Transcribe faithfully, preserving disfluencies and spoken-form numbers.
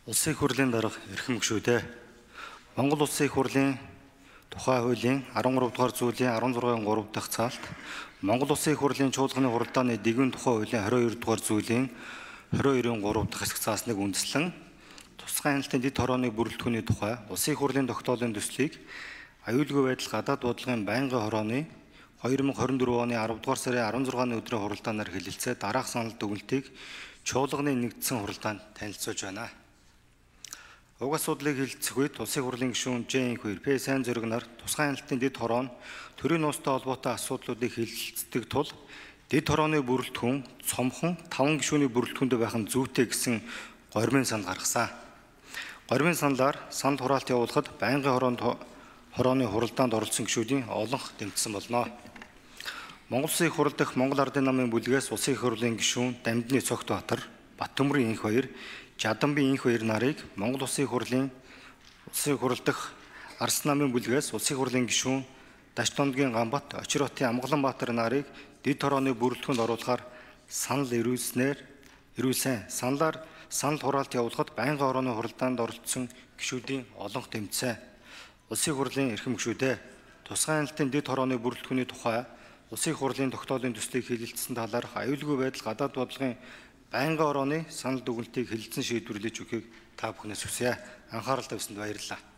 Улсын их хурлын дарга эрхэм гишүүдээ Монгол Улсын их хурлын тухай хуулийн арван гурав дугаар зүйлийн арван зургийн гурав дахь цаалт Монгол Улсын их хурлын чуулганы хуралдааны дээгүүр тухай хуулийн хариу хоёр дугаар зүйлийн хариу хоёрын гурав дахь хэсэг цаасныг үндэслэн тусгай хяналтын дэд хорооны бүрэлдэхүүний тухай Улсын их хурлын тогтоолын төслийг аюулгүй байдал гадаад бодлогын байнгын хорооны хоёр мянга хорин дөрөв оны аравдугаар сарын арван зургааны өдрийн хуралдаанаар хэлэлцээ дараах санал дүгнэлтийг чуулганы нэгдсэн хуралдаанд танилцуулж байна. Уг асуудлыг хэлэлцэх үед Улсын хурлын гишүүн Жэн хоёр П сайн зориг нар тусгай хяналтын дэд хороо нь төрийн нуустай холбоотой асуудлуудыг хэлэлцдэг тул дэд хорооны бүрэлдэхүүн цомхон таван гишүүний бүрэлдэхүүндээ байх нь зүйтэй гэсэн горьмын санал гаргасан. Горьмын саналаар санал хураалт явуулахад байнгын хороонд хорооны хуралдаанд оролцсон гишүүдийн олонх дэмжсэн болно. Монгол Улсын их хурл дахь Монгол Ардын намын бүлгээс Улсын их хурлын гишүүн Дамжны Цогтбаатар, Баттөмрийн инх хоёр, Жаданбын инх хоёр нарыг Монгол Улсын их хурлын Улсын их хурл дахь Арс намын бүлгээс Улсын их хурлын гишүүн Дашдондгийн Гамбат, Очиротын Амгаланбаатар нарыг дэд хорооны бүрэлдэхүүнд оруулахаар санал ирүүлснээр ирүүлсэн. Саналаар санал хураалт явуулахад байнгын хорооны хуралдаанд оролцсон гишүүдийн олонх дэмжсэн. Улсын их хурлын эрхэм гишүүдээ тусгай хяналтын дэд хорооны бүрэлдэхүүний тухай Улсын их хурлын тогтоолын төслийг хэлэлцсэн талаарх аюулгүй байдал гадаад бодлогын байнгын хорооны санал дүгнэлтийг хэлэлцэн шийдвэрлэж өгөхийг та бүхнээс хүсье. Анхаарал тавьсанд баярлалаа.